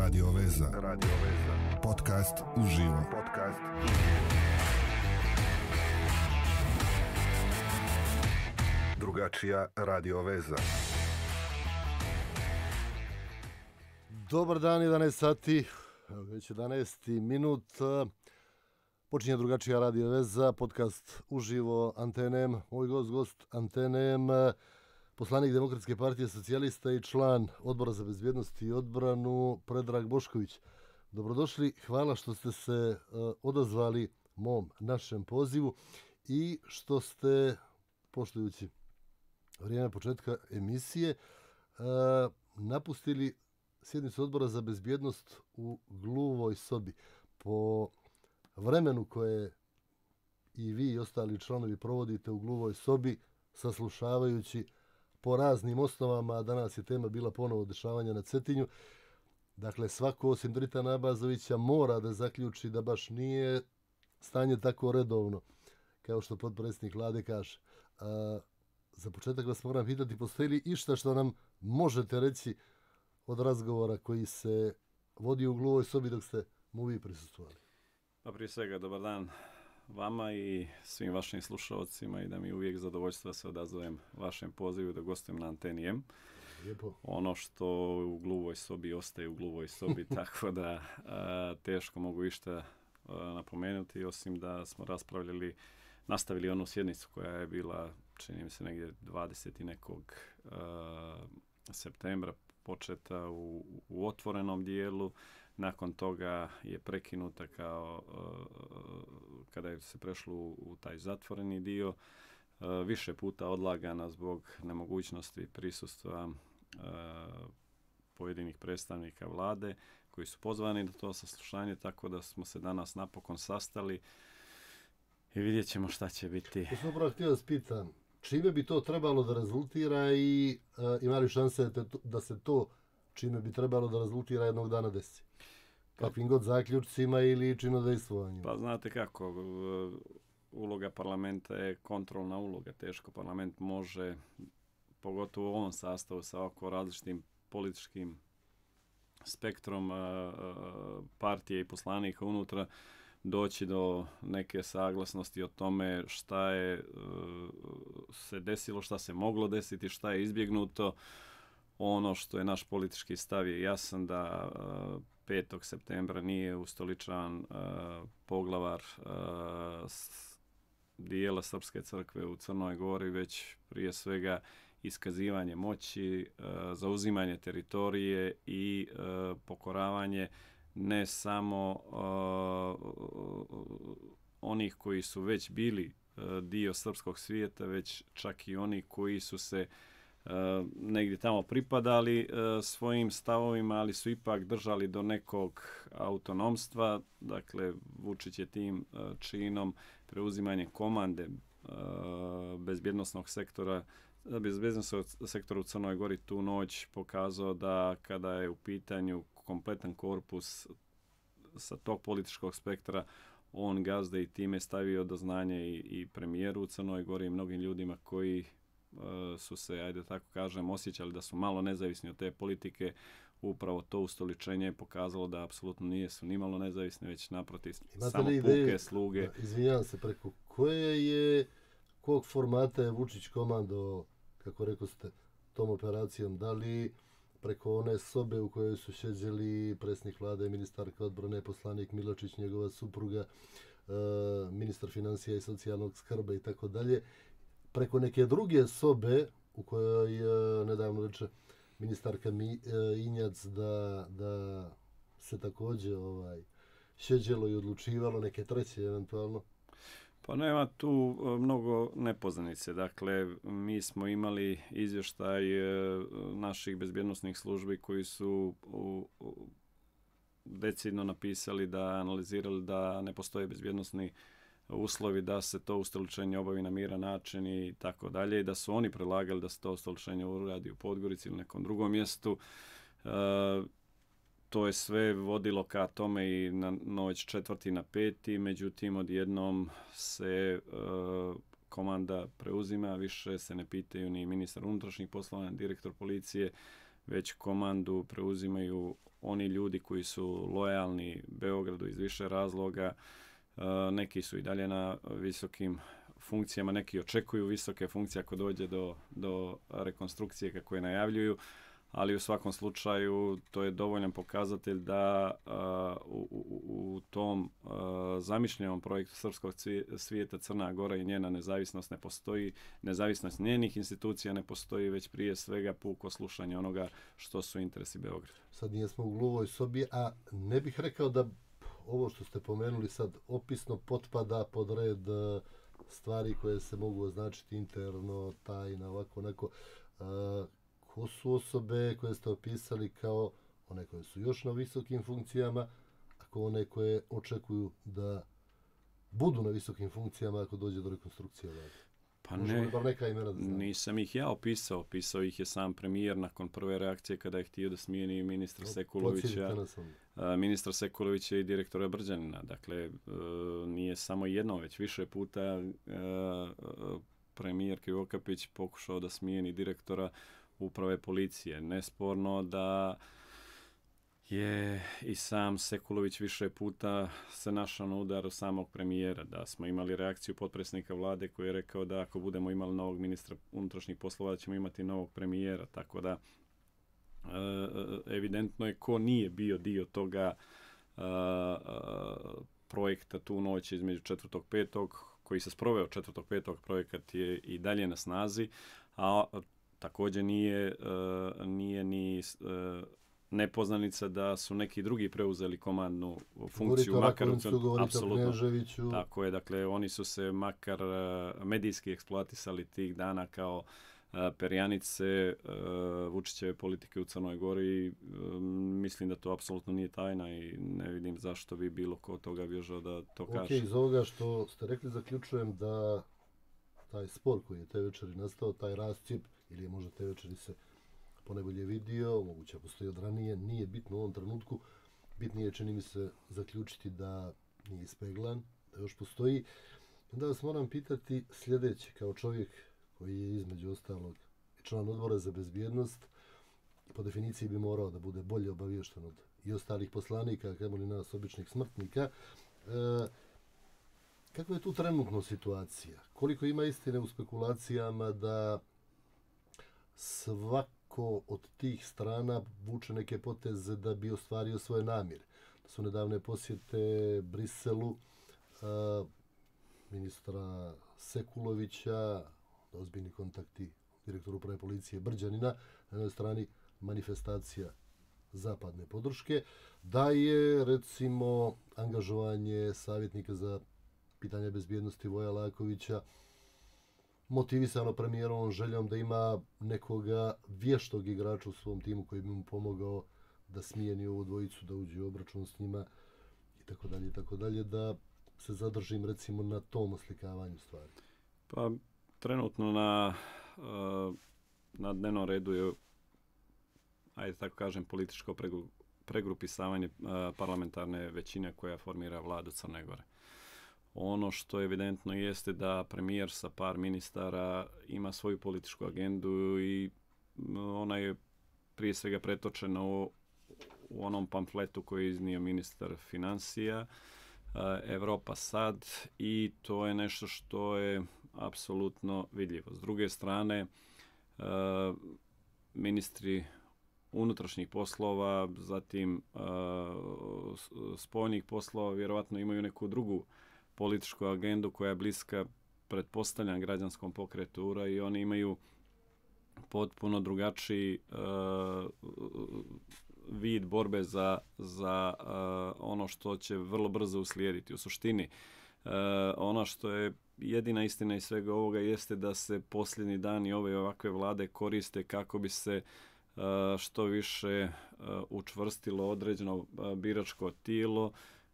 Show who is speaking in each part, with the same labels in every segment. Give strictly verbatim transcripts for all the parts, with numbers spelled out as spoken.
Speaker 1: Radio Veza. Radio Veza. Podcast uživo. Podcast drugačija Radio Veza.
Speaker 2: Dobar dan, jedanaest sati, već jedanaest minut. Počinje drugačija Radio Veza, podcast uživo Antenem. Moj gost, gost Antenem, poslanik Demokratske partije socijalista i član Odbora za bezbjednost i odbranu Predrag Bošković. Dobrodošli, hvala što ste se uh, odazvali mom našem pozivu i što ste, poštujući vrijeme početka emisije, uh, napustili sjednicu Odbora za bezbjednost u gluvoj sobi. Po vremenu koje i vi i ostali članovi provodite u gluvoj sobi, saslušavajući po raznim osnovama, danas je tema bila ponovo dešavanja na Cetinju. Dakle, svako osim Dritana Abazovića mora da zaključi da baš nije stanje tako redovno, kao što potpredsjednik Vlade kaže. A, za početak vas moram pitati, postoji li išta što nam možete reći od razgovora koji se vodi u gluvoj sobi dok ste mu vi prisustvovali?
Speaker 3: Pa prije svega, dobar dan vama i svim vašim slušalcima i da mi je uvijek zadovoljstvo da se odazovem vašem pozivu da gostujem na Anteni M.
Speaker 2: Lijepo.
Speaker 3: Ono što u gluvoj sobi ostaje u gluvoj sobi, tako da a, teško mogu išta a, napomenuti, osim da smo raspravljali, nastavili onu sjednicu koja je bila, čini mi se, negdje dvadesetog nekog a, septembra, početa u, u otvorenom dijelu, nakon toga je prekinuta kao uh, kada je se prešlo u, u taj zatvoreni dio, uh, više puta odlagana zbog nemogućnosti prisustva uh, pojedinih predstavnika Vlade koji su pozvani na to saslušanje, tako da smo se danas napokon sastali i vidjet ćemo šta će biti.
Speaker 2: Ja sam upravo htio da spitam, čime bi to trebalo da rezultira i uh, ima li šanse da se to čime bi trebalo da rezultira jednog dana desi? Kakvim god zaključcima ili činodejstvovanjem?
Speaker 3: Pa znate kako, uloga parlamenta je kontrolna uloga. Teško parlament može, pogotovo u ovom sastavu sa ovako različitim političkim spektrom partije i poslanika unutra, doći do neke saglasnosti o tome šta je se desilo, šta se moglo desiti, šta je izbjegnuto. Ono što je naš politički stav je jasan da uh, petog septembra nije ustoličan uh, poglavar uh, s dijela Srpske crkve u Crnoj Gori, već prije svega iskazivanje moći, uh, zauzimanje teritorije i uh, pokoravanje ne samo uh, onih koji su već bili uh, dio srpskog svijeta, već čak i oni koji su se Uh, negdje tamo pripadali uh, svojim stavovima, ali su ipak držali do nekog autonomstva. Dakle, Vučić je tim uh, činom preuzimanje komande uh, bezbjednosnog sektora bezbjednosnog sektora u Crnoj Gori tu noć pokazao da kada je u pitanju kompletan korpus sa tog političkog spektra, on gazda i time stavio do znanja i, i premijeru u Crnoj Gori i mnogim ljudima koji su se, ajde tako kažem, osjećali da su malo nezavisni od te politike. Upravo to ustoličenje je pokazalo da apsolutno nijesu ni malo nezavisni, već naprotiv samo puke ideje, sluge.
Speaker 2: Da, izvinjavam se, preko koje je, kog formata je Vučić komando, kako rekao ste, tom operacijom? Da li preko one sobe u kojoj su sjeđeli predsjednik Vlade, ministarka odbrane, poslanik Miločić, njegova supruga, uh, ministar financija i socijalnog skrba i tako dalje, preko neke druge sobe u kojoj je nedavno reče ministarka Mi, e, Injac da, da se također ovaj, sjeđelo i odlučivalo, neke treće eventualno?
Speaker 3: Pa nema tu mnogo nepoznanice. Dakle, mi smo imali izvještaj naših bezbjednosnih službi koji su u, u, decidno napisali da analizirali da ne postoje bezbjednosni uslovi da se to ustoličenje obavi na miran način i tako dalje, i da su oni predlagali da se to ustoličenje uradi u Podgorici ili nekom drugom mjestu. E, to je sve vodilo ka tome i na noć četvrti na peti, međutim odjednom se e, komanda preuzima, više se ne pitaju ni ministar unutrašnjih poslova, ni direktor policije, već komandu preuzimaju oni ljudi koji su lojalni Beogradu iz više razloga. Neki su i dalje na visokim funkcijama, neki očekuju visoke funkcije ako dođe do, do rekonstrukcije kako je najavljuju, ali u svakom slučaju to je dovoljan pokazatelj da uh, u, u, u tom uh, zamišljenom projektu srpskog svijeta Crna Gora i njena nezavisnost ne postoji, nezavisnost njenih institucija ne postoji, već prije svega puko slušanje onoga što su interesi Beograda.
Speaker 2: Sad nijesmo u gluvoj sobi, a ne bih rekao da ovo što ste pomenuli sad opisno potpada pod red stvari koje se mogu označiti interno, tajna, ovako, onako. Uh, ko su osobe koje ste opisali kao one koje su još na visokim funkcijama, ako one koje očekuju da budu na visokim funkcijama ako dođe do rekonstrukcije vlade?
Speaker 3: Pa ne,
Speaker 2: neka imena da
Speaker 3: nisam ih ja opisao, opisao ih je sam premijer nakon prve reakcije kada je htio da smijeni ministra no, Sekulovića, ministra Sekulovića i direktora Brđanina. Dakle, nije samo jedno, već više puta premijer Krivokapić pokušao da smijeni direktora uprave policije. Nesporno da je i sam Sekulović više puta se našao na udaru samog premijera, da smo imali reakciju potpredsjednika vlade koji je rekao da ako budemo imali novog ministra unutrašnjih poslova da ćemo imati novog premijera, tako da evidentno je ko nije bio dio toga projekta tu noć između četvrtog petog koji se sproveo četvrtog petog projekat je i dalje na snazi, a također nije, nije ni nepoznanica da su neki drugi preuzeli komandnu funkciju.
Speaker 2: Govorite makar u apsolutno.
Speaker 3: Tako je, dakle, oni su se makar medijski eksploatisali tih dana kao perjanice Vučićeve politike u Crnoj Gori. Mislim da to apsolutno nije tajna i ne vidim zašto bi bilo ko toga bježao da to kaže.
Speaker 2: Ok, iz ovoga što ste rekli zaključujem da taj spor koji je te večeri nastao, taj rascijep, ili je možda te večeri se ponajbolje vidio, moguće postoji od ranije, nije bitno u ovom trenutku. Bitnije čini mi se zaključiti da nije ispeglan, da još postoji. Onda vas moram pitati sljedeće, kao čovjek koji je između ostalog član odbora za bezbjednost, po definiciji bi morao da bude bolje obaviješten od i ostalih poslanika, kao li nas običnih smrtnika. E, kakva je tu trenutno situacija? Koliko ima istine u spekulacijama da svako od tih strana vuče neke poteze da bi ostvario svoje namjere? Da su nedavne posjete Briselu a, ministra Sekulovića, ozbiljni kontakti direktora uprave policije Brđanina, na jednoj strani manifestacija zapadne podrške, da je recimo angažovanje savjetnika za pitanje bezbjednosti Voja Lakovića motivisano premijerovom željom da ima nekoga vještog igrača u svom timu koji bi mu pomogao da smijeni ovu dvojicu, da uđe u obračun s njima i tako dalje i tako dalje, da se zadržim recimo na tom oslikavanju stvari.
Speaker 3: Pa trenutno na, na dnevnom redu je, ajde tako kažem, političko pregrupisavanje parlamentarne većine koja formira vladu Crne Gore. Ono što evidentno jeste da premijer sa par ministara ima svoju političku agendu i ona je prije svega pretočena u, u onom pamfletu koji je iznio ministar financija Evropa sad, i to je nešto što je apsolutno vidljivo. S druge strane, ministri unutrašnjih poslova, zatim spoljnih poslova vjerovatno imaju neku drugu političku agendu koja je bliska, pretpostavljam, građanskom pokretu U R A, i oni imaju potpuno drugačiji uh, vid borbe za, za uh, ono što će vrlo brzo uslijediti. U suštini, uh, ono što je jedina istina iz svega ovoga jeste da se posljednji dani ove ovakve vlade koriste kako bi se uh, što više uh, učvrstilo određeno uh, biračko tijelo,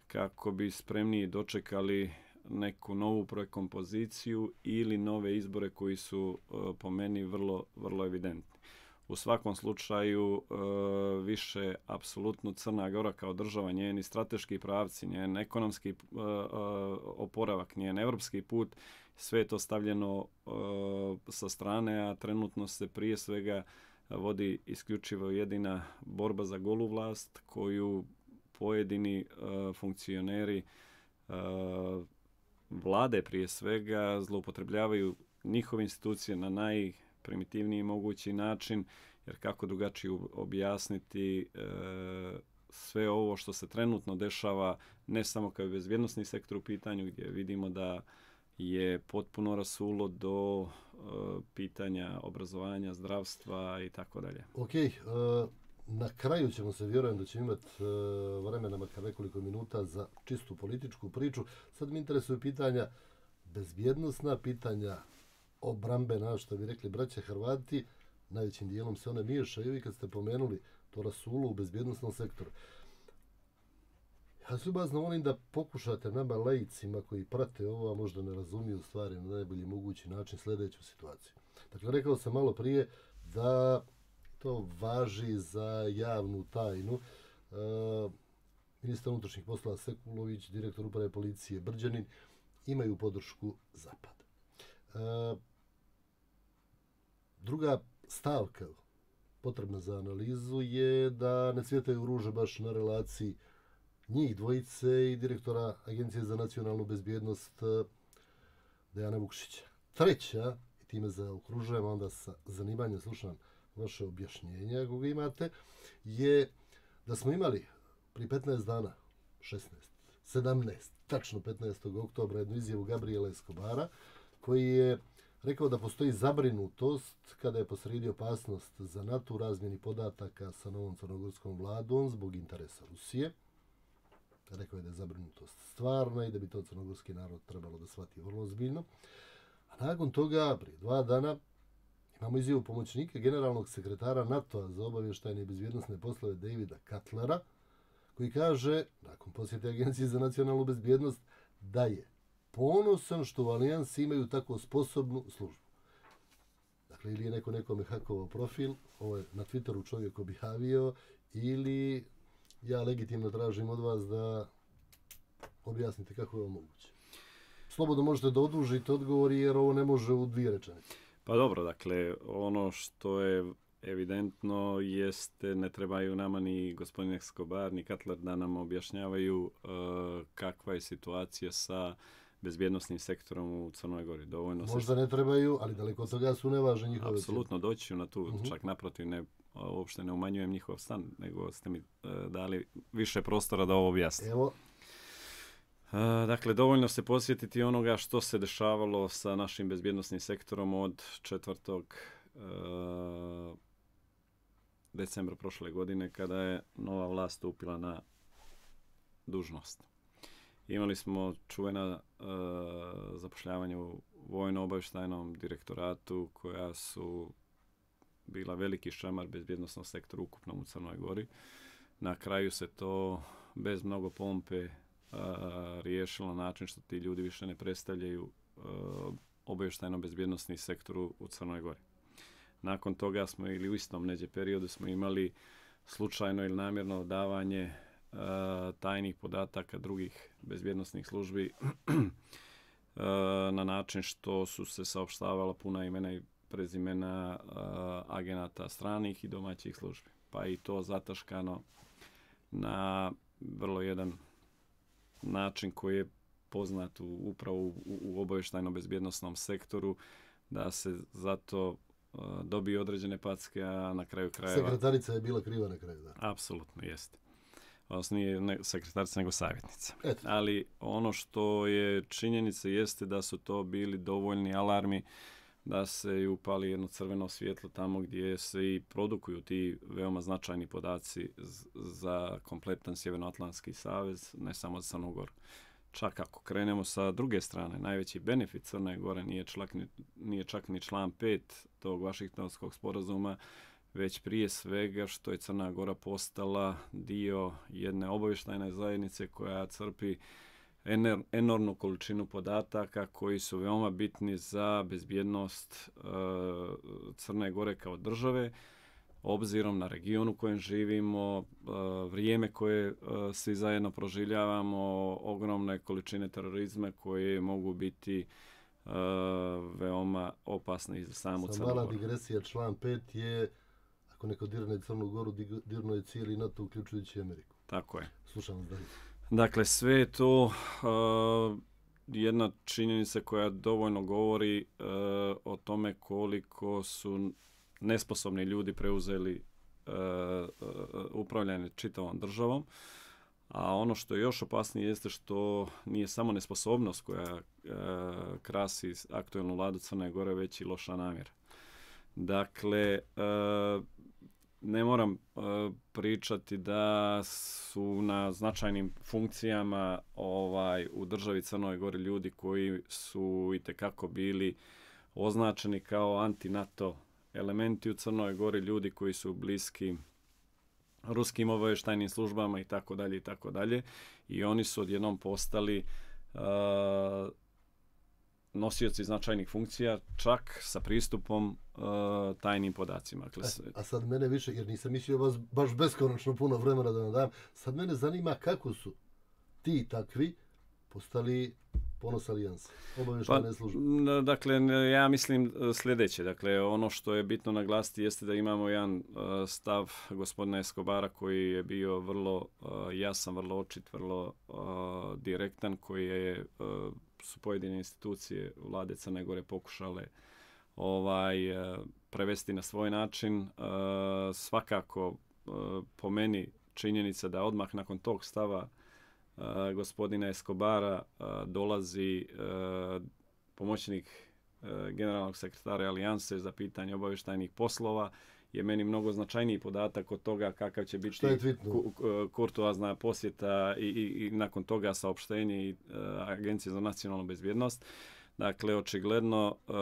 Speaker 3: kako bi spremniji dočekali neku novu prekompoziciju ili nove izbore koji su uh, po meni vrlo, vrlo evidentni. U svakom slučaju uh, više apsolutno Crna Gora kao država, njeni strateški pravci, njen ekonomski uh, uh, oporavak, njen evropski put, sve je to stavljeno uh, sa strane, a trenutno se prije svega vodi isključivo jedina borba za golu vlast koju pojedini uh, funkcioneri uh, vlade prije svega zloupotrebljavaju njihove institucije na najprimitivniji mogući način, jer kako drugačije objasniti uh, sve ovo što se trenutno dešava, ne samo kao bezbjednosni sektor u pitanju, gdje vidimo da je potpuno rasulo do uh, pitanja obrazovanja, zdravstva i tako dalje.
Speaker 2: Ok, uh, na kraju ćemo se, vjerujem da ćemo imati uh, vremena makar nekoliko minuta za čistu političku priču. Sad mi interesuju pitanja bezbjednosna, pitanja obrambena, što bi rekli braća Hrvati, najvećim dijelom se one miješaju i kad ste pomenuli to rasulo u bezbjednosnom sektoru. Ja se ljubazno volim da pokušate nama laicima koji prate ovo, a možda ne razumiju stvari na najbolji mogući način, sljedeću situaciju. Dakle, rekao sam malo prije da to važi za javnu tajnu. E, ministar unutrašnjih poslova Sekulović, direktor uprave policije Brđanin imaju podršku Zapada. E, druga stavka potrebna za analizu je da ne cvjetaju ruže baš na relaciji njih dvojice i direktora Agencije za nacionalnu bezbjednost Dejana Vukšića. Treća, i time zaokružujem, onda sa zanimanjem slušam vaše objašnjenje, ako ga imate, je da smo imali prije petnaest dana, šesnaest, sedamnaest, tačno petnaestog oktobra, jednu izjavu Gabriela Escobara, koji je rekao da postoji zabrinutost kada je posrijedi opasnost za NATO u razmjeni podataka sa novom crnogorskom vladom zbog interesa Rusije. Rekao je da je zabrinutost stvarna i da bi to crnogorski narod trebalo da shvati vrlo ozbiljno. A nakon toga, prije dva dana, imamo izjavu pomoćnika generalnog sekretara NATO-a za obavještajne i bezbjednosne poslove Davida Cutlera, koji kaže, nakon posjete Agencije za nacionalnu bezbjednost, da je ponosan što u Alijansi imaju tako sposobnu službu. Dakle, ili je neko nekome hakovao profil, ovo je na Twitteru čovjek objavio, ili ja legitimno tražim od vas da objasnite kako je ovo moguće. Slobodno možete da odužite odgovori jer ovo ne može u dvije rečenice.
Speaker 3: Pa dobro, dakle, ono što je evidentno jeste, ne trebaju nama ni gospodin Escobar ni Cutler da nam objašnjavaju uh, kakva je situacija sa bezbjednosnim sektorom u Crnoj Gori. Dovoljno
Speaker 2: Možda
Speaker 3: se...
Speaker 2: ne trebaju, ali daleko od toga su nevažne njihove.
Speaker 3: Apsolutno, doći ću na tu,
Speaker 2: uh-huh.
Speaker 3: čak naprotiv, ne, uopšte ne umanjujem njihov stan, nego ste mi uh, dali više prostora da ovo objasnim.
Speaker 2: Evo.
Speaker 3: Uh, dakle, dovoljno se posjetiti onoga što se dešavalo sa našim bezbjednosnim sektorom od četvrtog Uh, decembra prošle godine kada je nova vlast stupila na dužnost. Imali smo čuvena uh, zapošljavanja u vojno-obavještajnom direktoratu koja su bila veliki šamar bezbjednosnog sektora ukupnom u Crnoj Gori. Na kraju se to bez mnogo pompe uh, riješilo na način što ti ljudi više ne predstavljaju uh, obavještajno-bezbjednosni sektor u Crnoj Gori. Nakon toga smo ili u istom neđe periodu smo imali slučajno ili namjerno davanje e, tajnih podataka drugih bezbjednosnih službi e, na način što su se saopštavala puna imena i prezimena e, agenata stranih i domaćih službi. Pa i to zataškano na vrlo jedan način koji je poznat u, upravo u, u obavještajno-bezbjednosnom sektoru, da se zato dobije određene packe, a na kraju krajeva...
Speaker 2: Sekretarica je bila kriva na kraju, da.
Speaker 3: Apsolutno, jeste. Odnosno nije ne, sekretarica, nego savjetnica.
Speaker 2: Eto.
Speaker 3: Ali ono što je činjenica jeste da su to bili dovoljni alarmi da se i upali jedno crveno svjetlo tamo gdje se i produkuju ti veoma značajni podaci za kompletan Sjevernoatlantski savez, ne samo za Crnu Goru. Čak ako krenemo sa druge strane, najveći benefit Crne Gore nije čak ni, nije čak ni član pet tog Vašingtonskog sporazuma, već prije svega što je Crna Gora postala dio jedne obavještajne zajednice koja crpi ener, enormnu količinu podataka koji su veoma bitni za bezbjednost uh, Crne Gore kao države, obzirom na region u kojem živimo, vrijeme koje svi zajedno proživljavamo, ogromne količine terorizma koje mogu biti veoma opasne i za samu Crnu Goru.
Speaker 2: Mala digresija, član pet je ako neko dirne Crnu Goru, dirno je cijeli NATO, uključujući Ameriku.
Speaker 3: Tako je.
Speaker 2: Slušam vas dalje.
Speaker 3: Dakle, sve je to uh, jedna činjenica koja dovoljno govori uh, o tome koliko su nesposobni ljudi preuzeli uh, uh, upravljanje čitavom državom. A ono što je još opasnije jeste što nije samo nesposobnost koja uh, krasi aktualnu vladu Crne Gore, već i loša namjera. Dakle, uh, ne moram uh, pričati da su na značajnim funkcijama ovaj u državi Crnoj Gori ljudi koji su itekako bili označeni kao anti-NATO elementi u Crnoj Gori, ljudi koji su bliski ruskim obavještajnim službama i tako dalje i tako dalje. I oni su odjednom postali uh, nosioci značajnih funkcija, čak sa pristupom uh, tajnim podacima. Dakle,
Speaker 2: a, a sad mene više, jer nisam mislio vas baš beskonačno puno vremena da vam dam, sad mene zanima kako su ti takvi postali ponos alijanse, obavještajne službe.
Speaker 3: Pa, dakle, ja mislim sljedeće. Dakle, ono što je bitno naglasiti jeste da imamo jedan uh, stav gospodina Escobara koji je bio vrlo uh, jasan, vrlo očit, vrlo uh, direktan, koji je uh, su pojedine institucije vlade Crne Gore pokušale ovaj uh, prevesti na svoj način. Uh, svakako, uh, po meni, činjenica da odmah nakon tog stava Uh, gospodina Escobara uh, dolazi uh, pomoćnik uh, generalnog sekretara Alijanse za pitanje obavještajnih poslova je meni mnogo značajniji podatak od toga kakav će biti ku, kurtoazna posjeta i, i, i nakon toga saopštenje i uh, Agencije za nacionalnu bezbjednost. Dakle, očigledno uh,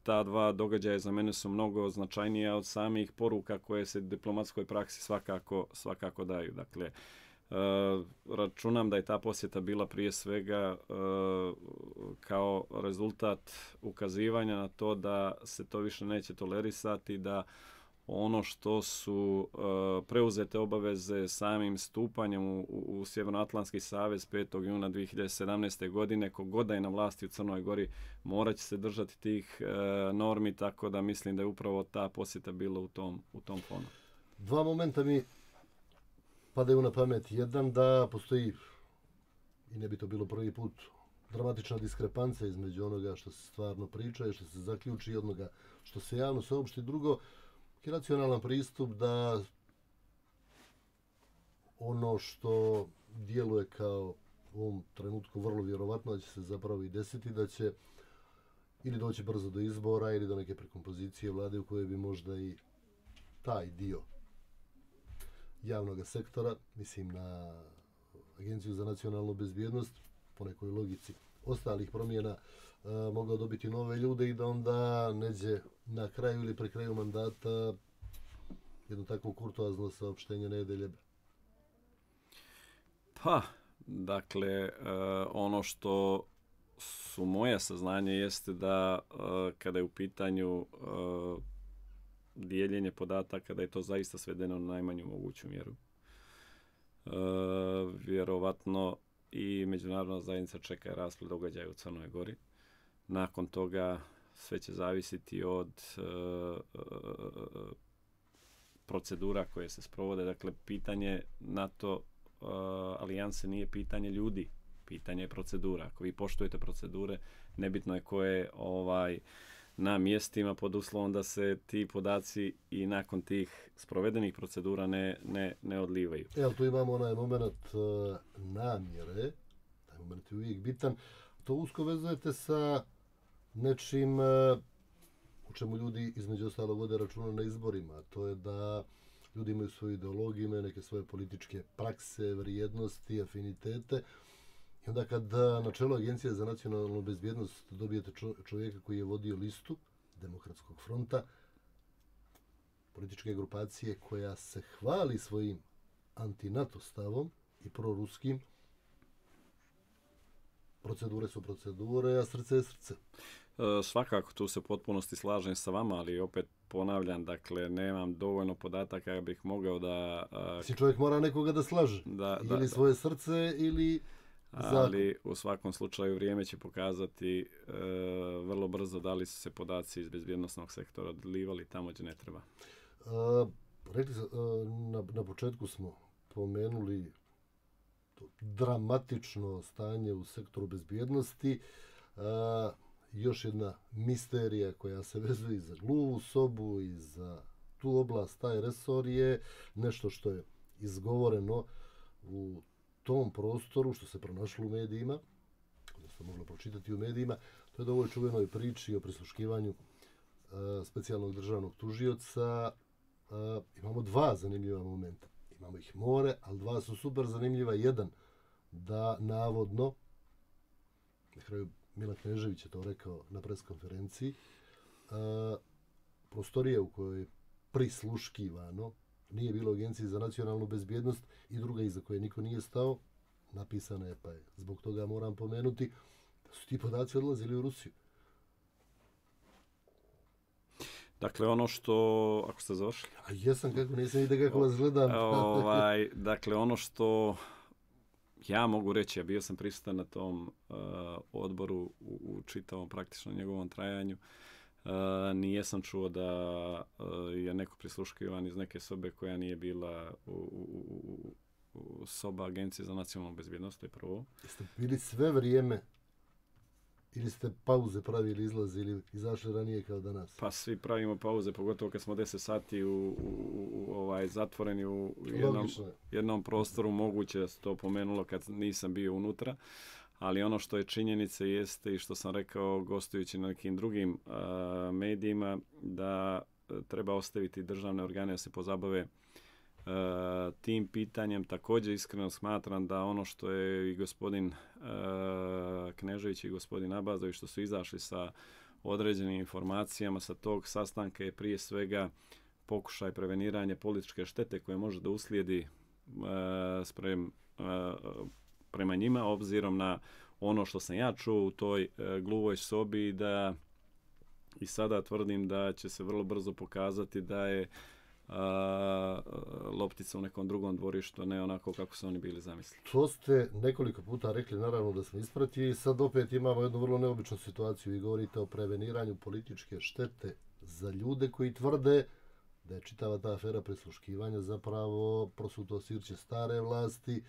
Speaker 3: ta dva događaja za mene su mnogo značajnija od samih poruka koje se diplomatskoj praksi svakako, svakako daju. Dakle, Uh, računam da je ta posjeta bila prije svega uh, kao rezultat ukazivanja na to da se to više neće tolerisati, da ono što su uh, preuzete obaveze samim stupanjem u, u Sjevernoatlantski savez petog juna dvije hiljade sedamnaeste. godine, kogod da je na vlasti u Crnoj Gori, morat će se držati tih uh, normi, tako da mislim da je upravo ta posjeta bila u tom, u tom fonu.
Speaker 2: Dva momenta mi padaju na pamet. Jedan, da postoji, i ne bi to bilo prvi put, dramatična diskrepanca između onoga što se stvarno priča i što se zaključi i onoga što se javno saopšti. Drugo, je racionalan pristup da ono što djeluje kao u ovom trenutku vrlo vjerovatno da će se zapravo i desiti, da će ili doći brzo do izbora ili do neke prekompozicije vlade u kojoj bi možda i taj dio javnog sektora, mislim na Agenciju za nacionalnu bezbjednost, po nekoj logici ostalih promjena, e, mogao dobiti nove ljude i da onda neđe na kraju ili pre kraju mandata jedno takvo kurtoazno saopštenje ne jede ljebe.
Speaker 3: Pa, dakle, e, ono što su moja saznanje jeste da e, kada je u pitanju e, dijeljenje podataka, da je to zaista svedeno na najmanju moguću mjeru. E, vjerovatno i međunarodna zajednica čeka rasplet događaja u Crnoj Gori. Nakon toga sve će zavisiti od e, e, procedura koje se sprovode. Dakle, pitanje NATO e, alijanse nije pitanje ljudi, pitanje je procedura. Ako vi poštujete procedure, nebitno je koje ovaj na mjestima pod uslovom da se ti podaci i nakon tih sprovedenih procedura ne, ne, ne odlivaju.
Speaker 2: Evo, tu imamo onaj moment uh, namjere, taj moment je uvijek bitan. To usko vezujete sa nečim uh, u čemu ljudi između ostalog vode računa na izborima. To je da ljudi imaju svoju ideologiju, imaju neke svoje političke prakse, vrijednosti, afinitete. I onda kad na čelu Agencije za nacionalnu bezbjednost dobijete čovjeka koji je vodio listu Demokratskog fronta, političke grupacije koja se hvali svojim anti-NATO stavom i proruskim, procedure su procedure, a srce je srce.
Speaker 3: E, svakako, tu se u potpunosti slažem sa vama, ali opet ponavljam, dakle, nemam dovoljno podataka da bih mogao da... A,
Speaker 2: si čovjek mora nekoga da slaže,
Speaker 3: da,
Speaker 2: ili
Speaker 3: da,
Speaker 2: svoje srce, ili...
Speaker 3: Ali u svakom slučaju vrijeme će pokazati e, vrlo brzo da li su se podaci iz bezbjednosnog sektora odlivali tamo gdje ne treba.
Speaker 2: E, rekli na, na početku smo pomenuli to dramatično stanje u sektoru bezbjednosti. A, još jedna misterija koja se vezuje i za gluvu sobu i za tu oblast, taj resor je nešto što je izgovoreno u tom prostoru, što se pronašlo u medijima, odnosno moglo pročitati u medijima. To je da u ovoj čuvenoj priči o prisluškivanju uh, specijalnog državnog tužioca uh, imamo dva zanimljiva momenta. Imamo ih more, ali dva su super zanimljiva. Jedan, da navodno, na kraju Milan Knežević je to rekao na preskonferenciji, uh, prostorije u kojoj je prisluškivano nije bilo Agencije za nacionalnu bezbjednost i druga iza koje niko nije stao, napisana je, pa je zbog toga moram pomenuti da su ti podaci odlazili u Rusiju.
Speaker 3: Dakle, ono što, ako ste završili?
Speaker 2: A jesam, kako nisam vidio kako vas gledam.
Speaker 3: ovaj, dakle, ono što ja mogu reći, ja bio sam prisutan na tom uh, odboru u, u čitavom praktično njegovom trajanju. Uh, nijesam čuo da uh, je neko prisluškivan iz neke sobe koja nije bila u, u, u, u soba Agencije za nacionalnu bezbjednost, to je prvo.
Speaker 2: Jeste bili sve vrijeme ili ste pauze pravili, izlazili, izašli ranije kao danas?
Speaker 3: Pa svi pravimo pauze, pogotovo kad smo deset sati u, u, u, ovaj, zatvoreni u jednom, jednom prostoru. Moguće da se to pomenulo kad nisam bio unutra. Ali ono što je činjenica jeste i što sam rekao gostujući na nekim drugim uh, medijima, da uh, treba ostaviti državne organe da se pozabave uh, tim pitanjem. Također iskreno smatram da ono što je i gospodin uh, Knežević i gospodin Abazović što su izašli sa određenim informacijama sa tog sastanka je prije svega pokušaj preveniranja političke štete koje može da uslijedi uh, sprem uh, prema njima, obzirom na ono što sam ja čuo u toj e, gluvoj sobi, da i sada tvrdim da će se vrlo brzo pokazati da je a, loptica u nekom drugom dvorištu, ne onako kako su oni bili zamislili.
Speaker 2: To ste nekoliko puta rekli, naravno da smo ispratili i sad opet imamo jednu vrlo neobičnu situaciju. Vi govorite o preveniranju političke štete za ljude koji tvrde da je čitava ta afera prisluškivanja zapravo prosuto sirće stare vlasti.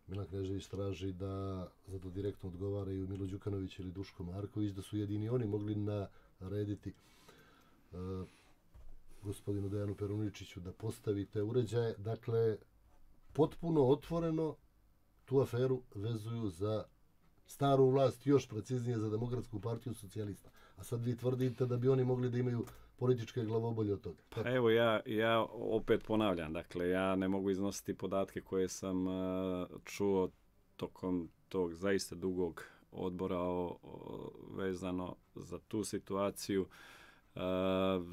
Speaker 2: Milan Knežević traži da za to direktno odgovaraju Milo Đukanović ili Duško Marković, da su jedini oni mogli narediti uh, gospodinu Dejanu Peruničiću da postavi te uređaje. Dakle, potpuno otvoreno tu aferu vezuju za staru vlast, još preciznije za Demokratsku partiju socijalista. A sad vi tvrdite da bi oni mogli da imaju političke glavobolje od toga.
Speaker 3: Pa evo ja, ja opet ponavljam, dakle ja ne mogu iznositi podatke koje sam uh, čuo tokom tog zaista dugog odbora o, o, vezano za tu situaciju. Uh,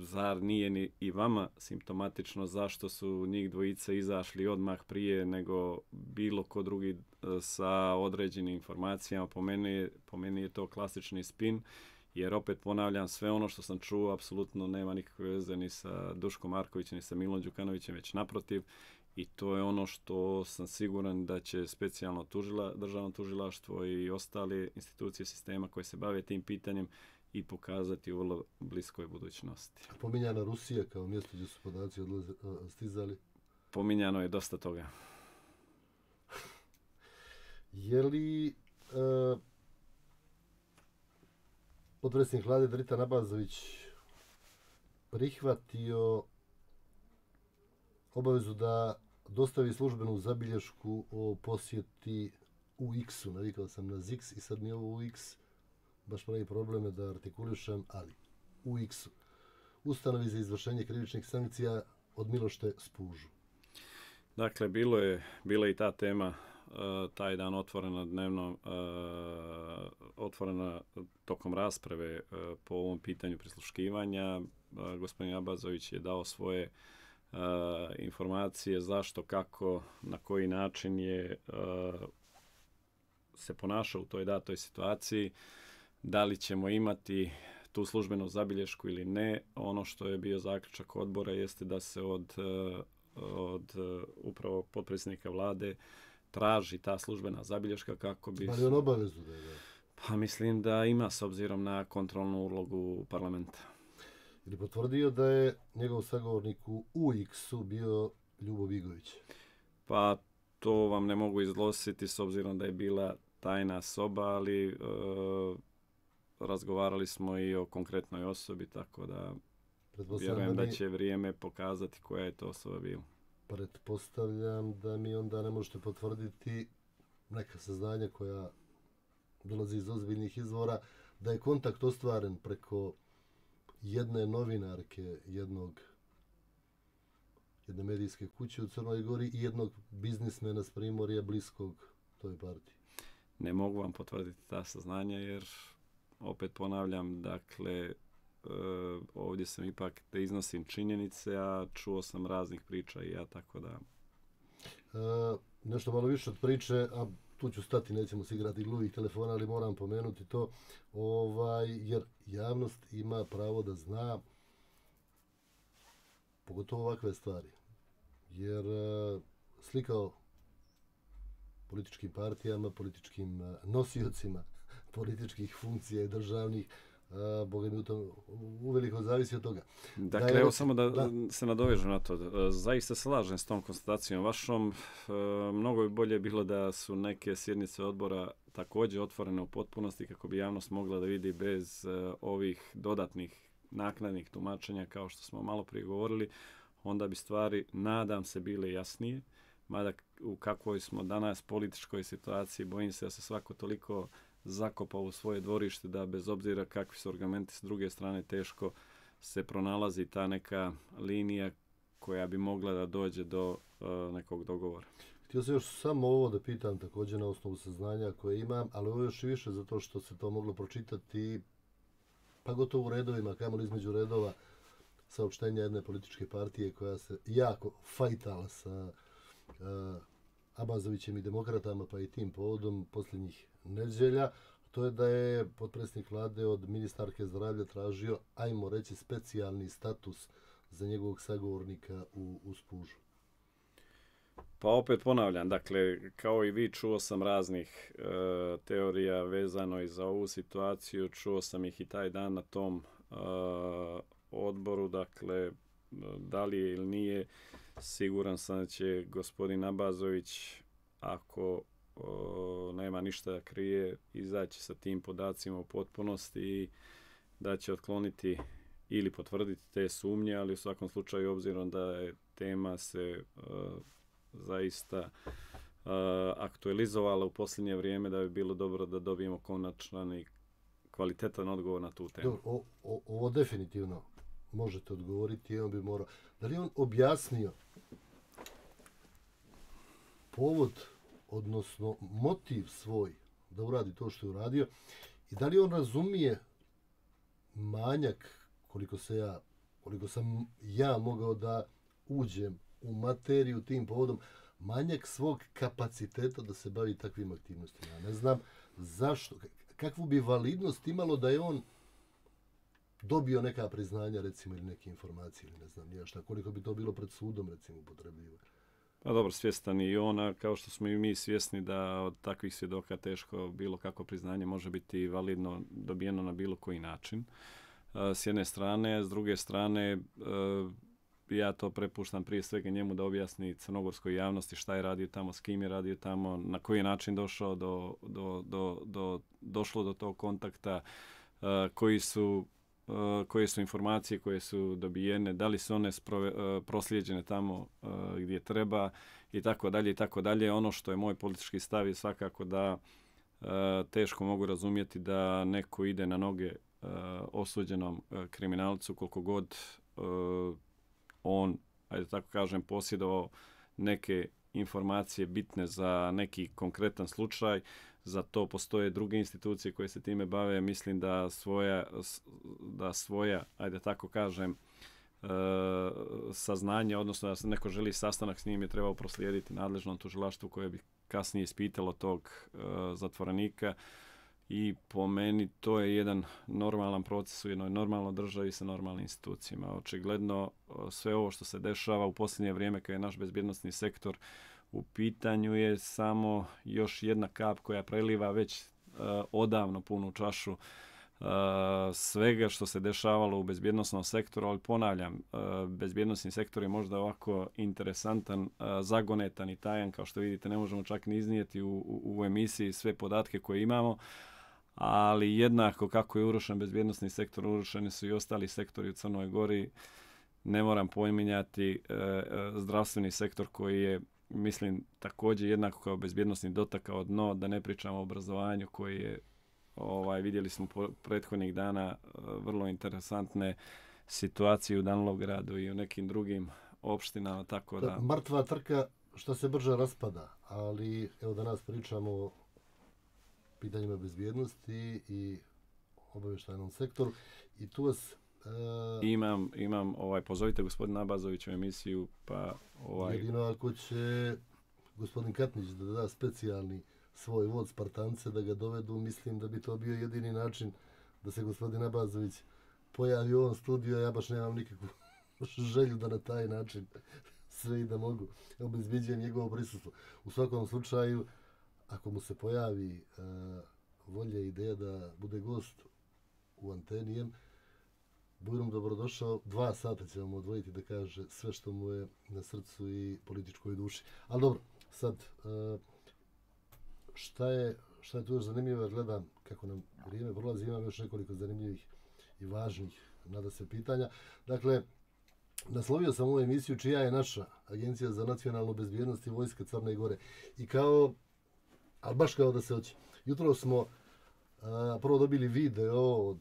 Speaker 3: zar nije ni i vama simptomatično zašto su njih dvojica izašli odmah prije nego bilo ko drugi uh, sa određenim informacijama? Po meni, po meni je to klasični spin. Jer opet ponavljam, sve ono što sam čuo apsolutno nema nikakve veze ni sa Duškom Markovićem, ni sa Milom Đukanovićem, već naprotiv. I to je ono što sam siguran da će specijalno tužila, državno tužilaštvo i ostale institucije sistema koje se bave tim pitanjem i pokazati u vrlo bliskoj budućnosti.
Speaker 2: Pominjana Rusija kao mjesto gdje su podaci odlaze, stizali?
Speaker 3: Pominjano je dosta toga.
Speaker 2: Je li... Uh... potpredsjednik vlade Dritan Abazović prihvatio obavezu da dostavi službenu zabilješku o posjeti U X-u. Navikao sam na Z X i sad mi ovo U X baš pravi probleme da artikulišem, ali U X-u. Ustanovi za izvršenje krivičnih sankcija od Milošte Spužu.
Speaker 3: Dakle, bilo je, bila i ta tema Uh, taj dan otvorena dnevno, uh, otvorena tokom rasprave uh, po ovom pitanju prisluškivanja. Uh, gospodin Abazović je dao svoje uh, informacije zašto, kako, na koji način je uh, se ponašao u toj datoj situaciji. Da li ćemo imati tu službenu zabilješku ili ne. Ono što je bio zaključak odbora jeste da se od, uh, od uh, upravo potpredsjednika vlade traži ta službena zabilješka kako bi...
Speaker 2: Ali on obavezu da je da?
Speaker 3: Pa mislim da ima s obzirom na kontrolnu ulogu parlamenta.
Speaker 2: ili potvrdio da je njegov sagovornik u U X-u bio Ljubo Bigović?
Speaker 3: Pa to vam ne mogu izglositi s obzirom da je bila tajna soba, ali e, razgovarali smo i o konkretnoj osobi, tako da vjerujem da, mi, da će vrijeme pokazati koja je to osoba bila.
Speaker 2: Pretpostavljam da mi onda ne možete potvrditi neka saznanja koja dolazi iz ozbiljnih izvora, da je kontakt ostvaren preko jedne novinarke, jednog jedne medijske kuće u Crnoj Gori i jednog biznismena s Primorja bliskog toj partiji.
Speaker 3: Ne mogu vam potvrditi ta saznanja jer, opet ponavljam, dakle, e, ovdje sam ipak da iznosim činjenice, a čuo sam raznih priča i ja, tako da...
Speaker 2: E, nešto malo više od priče, a tu ću stati, nećemo se igrati gluvih telefona, ali moram pomenuti to, ovaj, jer javnost ima pravo da zna pogotovo ovakve stvari. Jer e, slikao političkim partijama, političkim e, nosiocima političkih funkcija i državnih, a, Boga mi u tom uveliko zavisi od toga.
Speaker 3: Dakle, da, evo samo da, da se nadovežem na to. Zaista se slažem s tom konstatacijom vašom. E, mnogo bi bolje bilo da su neke sjednice odbora također otvorene u potpunosti kako bi javnost mogla da vidi bez e, ovih dodatnih naknadnih tumačenja, kao što smo malo prije govorili, onda bi stvari, nadam se, bile jasnije. Mada u kakvoj smo danas političkoj situaciji, bojim se da se svako toliko zakopao u svoje dvorište da bez obzira kakvi su argumenti s druge strane teško se pronalazi ta neka linija koja bi mogla da dođe do uh, nekog dogovora.
Speaker 2: Htio sam još samo ovo da pitam također na osnovu saznanja koje imam, ali ovo još i više zato što se to moglo pročitati pa gotovo u redovima, kamoli između redova, saopštenja jedne političke partije koja se jako fajtala sa uh, Abazovićem i demokratama, pa i tim povodom posljednjih nedjelja. To je da je potpredsjednik vlade od ministarke zdravlja tražio, ajmo reći, specijalni status za njegovog sagovornika u, u Spužu.
Speaker 3: Pa opet ponavljam, dakle, kao i vi, čuo sam raznih e, teorija vezano i za ovu situaciju, čuo sam ih i taj dan na tom e, odboru, dakle, da li je ili nije, siguran sam da će gospodin Abazović, ako o, nema ništa da krije, izaći sa tim podacima u potpunosti i da će otkloniti ili potvrditi te sumnje, ali u svakom slučaju, obzirom da je tema se uh, zaista uh, aktualizovala u posljednje vrijeme, da bi bilo dobro da dobijemo konačan i kvalitetan odgovor na tu temu.
Speaker 2: O, o, ovo definitivno možete odgovoriti, on bi morao. Da li on objasnio povod, odnosno motiv svoj da uradi to što je uradio i da li on razumije manjak, koliko se ja, koliko sam ja mogao da uđem u materiju tim povodom, manjak svog kapaciteta da se bavi takvim aktivnostima. Ja ne znam zašto, kakvu bi validnost imalo da je on dobio neka priznanja, recimo, ili neke informacije, ili ne znam nije šta, koliko bi to bilo pred sudom, recimo, upotrebljivo.
Speaker 3: Pa dobro, svjestan i ona, kao što smo i mi svjesni da od takvih svjedoka teško bilo kako priznanje može biti validno dobijeno na bilo koji način. S jedne strane, s druge strane, ja to prepuštam prije svega njemu da objasni crnogorskoj javnosti šta je radio tamo, s kim je radio tamo, na koji je način došao do, do, do, do, došlo do tog kontakta, koji su koje su informacije koje su dobijene, da li su one sprove, proslijeđene tamo gdje treba i tako dalje i tako dalje. Ono što je moj politički stav je svakako da teško mogu razumjeti da neko ide na noge osuđenom kriminalcu koliko god on, ajde tako kažem, posjedovao neke informacije bitne za neki konkretan slučaj. Za to postoje druge institucije koje se time bave. Mislim da svoja, da svoja ajde tako kažem, e, saznanje, odnosno da se neko želi sastanak s njim, je trebao proslijediti nadležnom tužilaštvu koje bi kasnije ispitalo tog e, zatvorenika. I po meni to je jedan normalan proces u jednoj normalnoj državi sa normalnim institucijama. Očigledno sve ovo što se dešava u posljednje vrijeme kad je naš bezbjednosni sektor u pitanju je samo još jedna kap koja preliva već uh, odavno punu čašu uh, svega što se dešavalo u bezbjednosnom sektoru, ali ponavljam, bezbjednosni sektor je možda ovako interesantan, zagonetan i tajan, kao što vidite ne možemo čak ni iznijeti u, u, u emisiji sve podatke koje imamo, ali jednako kako je urušen bezbjednosni sektor, urušeni su i ostali sektori u Crnoj Gori. Ne moram pominjati zdravstveni sektor koji je, mislim, također jednako kao bezbjednosni dotakao dno, da ne pričamo o obrazovanju koji je, ovaj, vidjeli smo po prethodnih dana vrlo interesantne situacije u Danilovgradu i u nekim drugim opštinama, tako da...
Speaker 2: Mrtva trka što se brže raspada, ali evo danas pričamo o pitanjima bezbjednosti i obavještajnom sektoru i tu vas... Uh,
Speaker 3: imam, imam, ovaj, pozovite gospodina Abazovića u emisiju, pa... Ovaj...
Speaker 2: Jedino ako će gospodin Katnić da da specijalni svoj vod Spartance da ga dovedu, mislim da bi to bio jedini način da se gospodin Abazović pojavi u ovom studiju, a ja baš nemam nikakvu želju da na taj način sve i da mogu obezbeđujem njegovo prisustvo. U svakom slučaju, ako mu se pojavi uh, volja i ideja da bude gost u Antenijem, budem dobrodošao, dva sata će vam odvojiti da kaže sve što mu je na srcu i političkoj duši. Ali dobro, sad, uh, šta je, šta je tu još zanimljivo, gledam kako nam vrijeme prolazi, imam još nekoliko zanimljivih i važnih, nada se, pitanja. Dakle, naslovio sam ovu emisiju čija je naša Agencija za nacionalnu bezbjednost i Vojska Crne Gore. I kao, ali baš kao da se hoće. Jutro smo uh, prvo dobili video od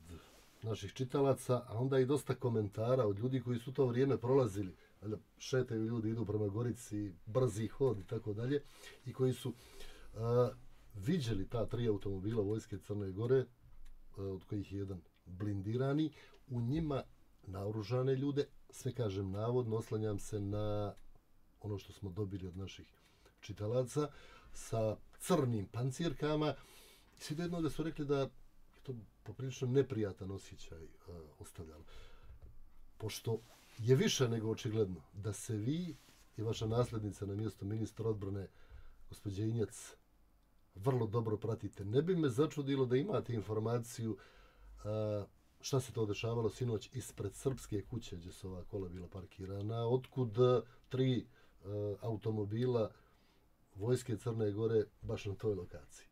Speaker 2: naših čitalaca, a onda i dosta komentara od ljudi koji su to vrijeme prolazili. Šetaju ljudi, idu prema Gorici, brzi hod i tako dalje. I koji su uh, viđeli ta tri automobila Vojske Crne Gore, uh, od kojih je jedan blindirani, u njima naoružane ljude, sve kažem navodno, oslanjam se na ono što smo dobili od naših čitalaca, sa crnim pancirkama. Svi do jednoga su rekli da je to poprilično neprijatan osjećaj uh, ostavljalo. Pošto je više nego očigledno da se vi i vaša nasljednica na mjestu ministra odbrane, gospođa Injac, vrlo dobro pratite. Ne bi me začudilo da imate informaciju uh, šta se to dešavalo sinoć ispred srpske kuće gdje su ova kola bila parkirana, otkud tri uh, automobila Vojske Crne Gore baš na toj lokaciji.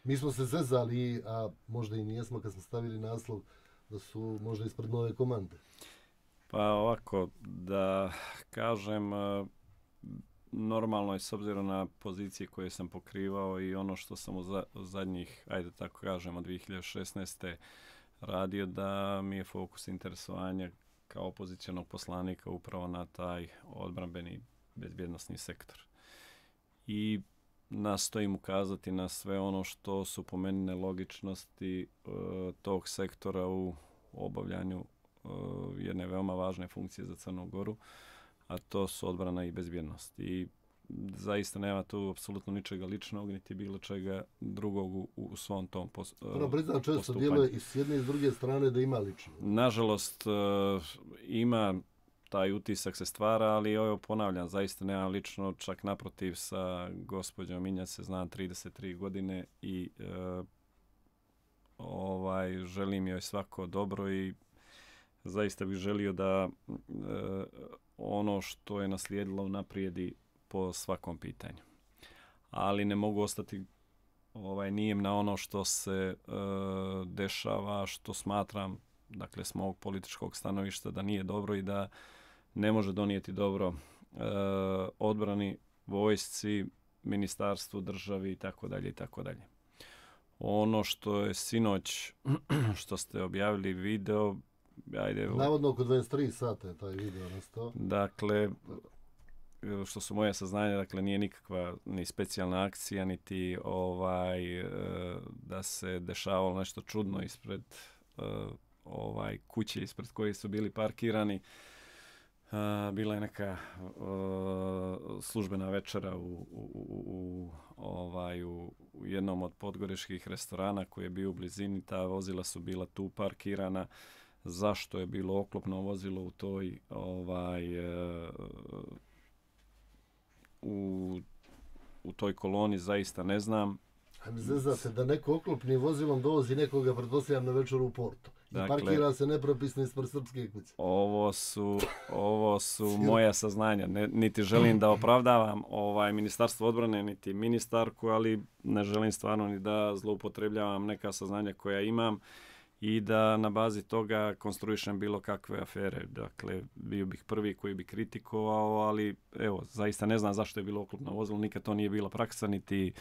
Speaker 2: Mi smo se zezali, a možda i nijesmo kad smo stavili naslov da su možda ispred nove komande.
Speaker 3: Pa ovako, da kažem, normalno je s obzirom na pozicije koje sam pokrivao i ono što sam u zadnjih, ajde tako kažem, od dvije hiljade šesnaeste radio, da mi je fokus interesovanja kao opozicionog poslanika upravo na taj odbrambeni bezbjednosni sektor. I nastojim ukazati na sve ono što su po meni nelogičnosti e, tog sektora u obavljanju e, jedne veoma važne funkcije za Crnu Goru, a to su odbrana i bezbjednost. I zaista nema tu apsolutno ničega ličnog, niti bilo čega drugog u, u svom tom pos,
Speaker 2: Prvo, priznam, često djeluje i s jedne i s druge strane da ima lično.
Speaker 3: Nažalost, e, ima taj utisak se stvara, ali evo ponavljam, zaista nema lično, čak naprotiv sa gospođom Injac se znam trideset tri godine i e, ovaj želim joj svako dobro i zaista bih želio da e, ono što je naslijedilo naprijedi po svakom pitanju. Ali ne mogu ostati ovaj nijem na ono što se e, dešava, što smatram, dakle, s mog političkog stanovišta da nije dobro i da ne može donijeti dobro e, odbrani, vojsci, ministarstvu, državi i tako dalje i tako dalje. Ono što je sinoć, što ste objavili video, ajde...
Speaker 2: Navodno oko dvadeset tri sata je taj video nastao.
Speaker 3: Dakle, što su moje saznanja, dakle, nije nikakva ni specijalna akcija, niti ovaj, e, da se dešavalo nešto čudno ispred e, ovaj kuće ispred koje su bili parkirani. Uh, bila je neka uh, službena večera u, u, u, u, ovaj, u, u jednom od podgoričkih restorana koji je bio u blizini. Ta vozila su bila tu parkirana. Zašto je bilo oklopno vozilo u toj ovaj, uh, u, u toj koloni, zaista ne znam.
Speaker 2: A mi zezate da neko oklopnim vozilom dovozi nekoga, pretpostavljam, na večeru u Porto. I dakle, parkira se nepropisno ispred srpske kuće.
Speaker 3: Ovo su, ovo su moja saznanja. Ne, niti želim da opravdavam ovaj Ministarstvo odbrane, niti ministarku, ali ne želim stvarno ni da zloupotrebljavam neka saznanja koja imam i da na bazi toga konstruišem bilo kakve afere. Dakle, bio bih prvi koji bi kritikovao, ali evo, zaista ne znam zašto je bilo oklopno vozilo, nikad to nije bila praksa, niti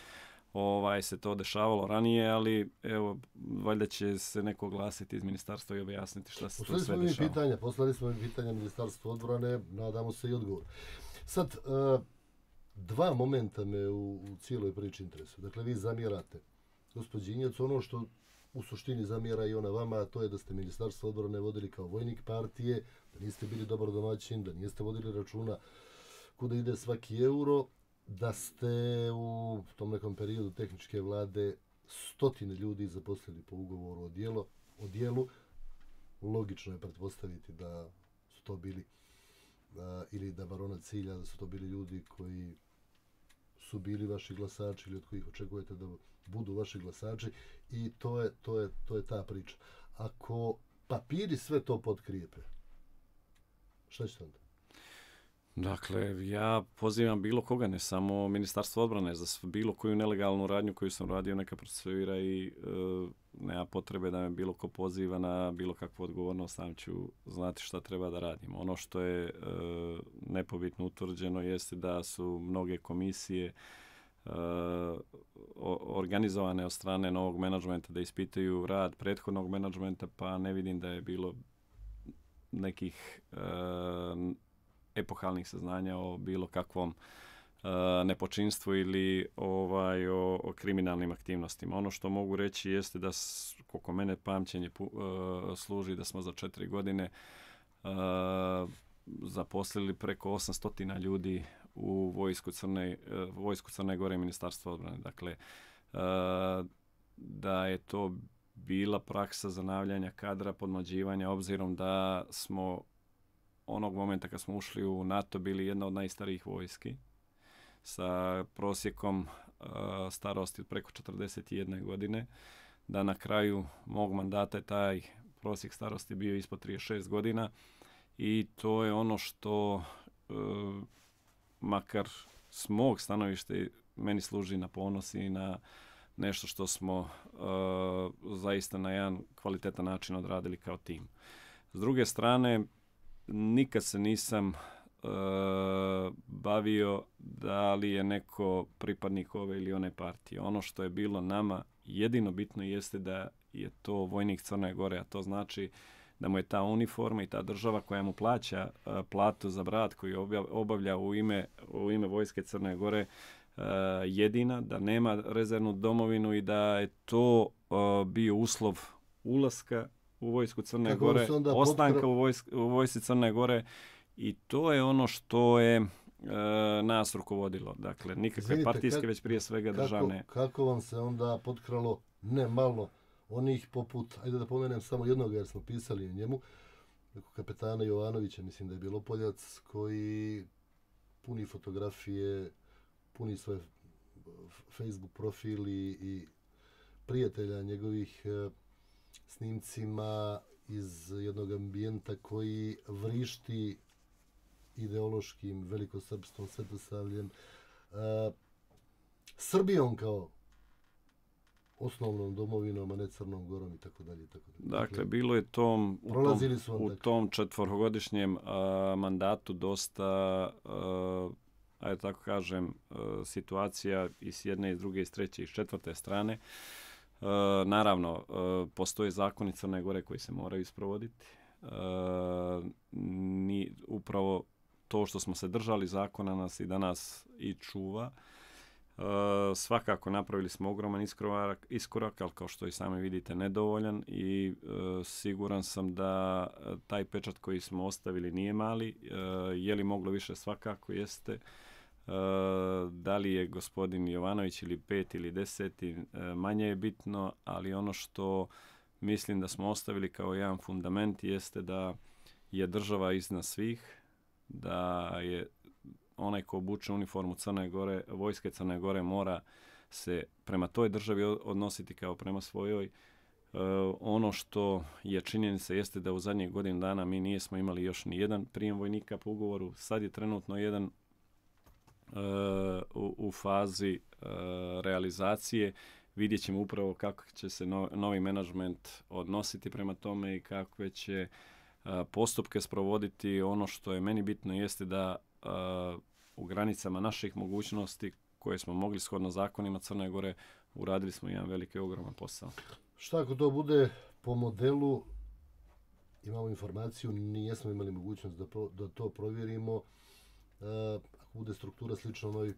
Speaker 3: ovaj se to dešavalo ranije, ali evo, valjda će se neko glasiti iz ministarstva i objasniti šta se to sve dešava.
Speaker 2: Pitanja, poslali smo mi pitanja Ministarstva odbrane, nadamo se i odgovor. Sad, uh, dva momenta me u, u cijeloj priči interesuju. Dakle, vi zamjerate gospođi Injac ono što u suštini zamjera i ona vama, a to je da ste Ministarstvo odbrane vodili kao vojnik partije, da niste bili dobar domaćin, da niste vodili računa kuda ide svaki euro, da ste u tom nekom periodu tehničke vlade stotine ljudi zaposlili po ugovoru o, dijelo, o dijelu. Logično je pretpostaviti da su to bili, a, ili da barona cilja, da su to bili ljudi koji su bili vaši glasači ili od kojih očekujete da budu vaši glasači i to je, to je, to je ta priča. Ako papiri sve to potkrijepe, šta ćete onda?
Speaker 3: Dakle, ja pozivam bilo koga, ne samo Ministarstvo odbrane, za bilo koju nelegalnu radnju koju sam radio, neka procesuira i e, nema potrebe da me bilo ko poziva na bilo kakvu odgovornost, sam ću znati šta treba da radim. Ono što je e, nepobitno utvrđeno jeste da su mnoge komisije e, organizovane od strane novog menadžmenta da ispitaju rad prethodnog menadžmenta, pa ne vidim da je bilo nekih e, epohalnih saznanja o bilo kakvom uh, nepočinstvu ili ovaj, o, o kriminalnim aktivnostima. Ono što mogu reći jeste da, koliko mene pamćenje uh, služi, da smo za četiri godine uh, zaposlili preko osamsto ljudi u vojsku Crne, uh, vojsku Crne Gore i Ministarstva odbrane. Dakle, uh, da je to bila praksa zanavljanja kadra, podmlađivanja, obzirom da smo onog momenta kad smo ušli u NATO bili jedna od najstarijih vojski sa prosjekom uh, starosti od preko četrdeset jedne godine, da na kraju mog mandata je taj prosjek starosti bio ispod trideset šest godina i to je ono što uh, makar s mog stanovišta meni služi na ponos i na nešto što smo uh, zaista na jedan kvalitetan način odradili kao tim. S druge strane, nikad se nisam uh, bavio da li je neko pripadnik ove ili one partije. Ono što je bilo nama jedino bitno jeste da je to vojnik Crne Gore, a to znači da mu je ta uniforma i ta država koja mu plaća uh, platu za brat koji obavlja u ime, u ime vojske Crne Gore uh, jedina, da nema rezervnu domovinu i da je to uh, bio uslov ulaska u vojsku Crne Kako Gore, ostanka potkra... u, vojsk, u vojsci Crne Gore i to je ono što je e, nas rukovodilo. Dakle, nikakve Zvinite, partijske, kak, već prije svega kako, državne.
Speaker 2: Kako vam se onda potkralo, ne malo, onih poput, ajde da pomenem samo jednog jer smo pisali o njemu, kapetana Jovanovića, mislim da je bilo Poljac, koji puni fotografije, puni svoje Facebook profili i prijatelja njegovih e, snimcima iz jednog ambijenta koji vrišti ideološkim velikosrpstvom, svetosavljem, uh, Srbijom kao osnovnom domovinom, a ne Crnom Gorom i tako dalje.
Speaker 3: Dakle, bilo je tom, u tom, u tom četvorogodišnjem uh, mandatu dosta, uh, ajde tako kažem, uh, situacija i s jedne, i s druge, i s treće, i s četvrte strane. Uh, naravno, uh, postoje zakoni Crne Gore koji se moraju isprovoditi. Uh, ni, upravo to što smo se držali zakona nas i danas i čuva. Uh, svakako napravili smo ogroman iskorak, iskorak, ali kao što i sami vidite nedovoljan i uh, siguran sam da taj pečat koji smo ostavili nije mali. Uh, je li moglo više? Svakako jeste. Uh, da li je gospodin Jovanović ili pet ili deseti, uh, manje je bitno, ali ono što mislim da smo ostavili kao jedan fundament jeste da je država iznad svih, da je onaj ko obuče uniformu Crne Gore, vojske Crne Gore mora se prema toj državi odnositi kao prema svojoj. Uh, ono što je činjenica jeste da u zadnjih godinu dana mi nismo imali još ni jedan prijem vojnika po ugovoru. Sad je trenutno jedan uh, u, u fazi uh, realizacije. Vidjet ćemo upravo kako će se no, novi menadžment odnositi prema tome i kakve će uh, postupke sprovoditi. Ono što je meni bitno jeste da uh, u granicama naših mogućnosti koje smo mogli shodno zakonima Crne Gore uradili smo jedan veliki ogroman posao.
Speaker 2: Šta ako to bude po modelu, imamo informaciju, nijesmo imali mogućnost da, pro, da to provjerimo, e, ako bude struktura slično onoj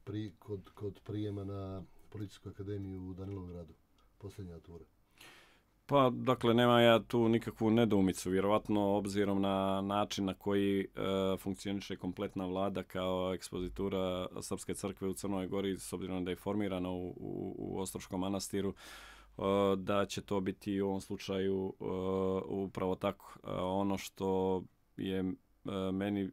Speaker 2: pri, kod, kod prijema na Policijsku akademiju u Danilovgradu, posljednja tura?
Speaker 3: Pa, dakle, nema ja tu nikakvu nedoumicu, vjerovatno obzirom na način na koji e, funkcioniše kompletna vlada kao ekspozitura Srpske crkve u Crnoj Gori, s obzirom da je formirana u, u, u Ostroškom manastiru, da će to biti u ovom slučaju uh, upravo tako. Uh, ono što je uh, meni uh,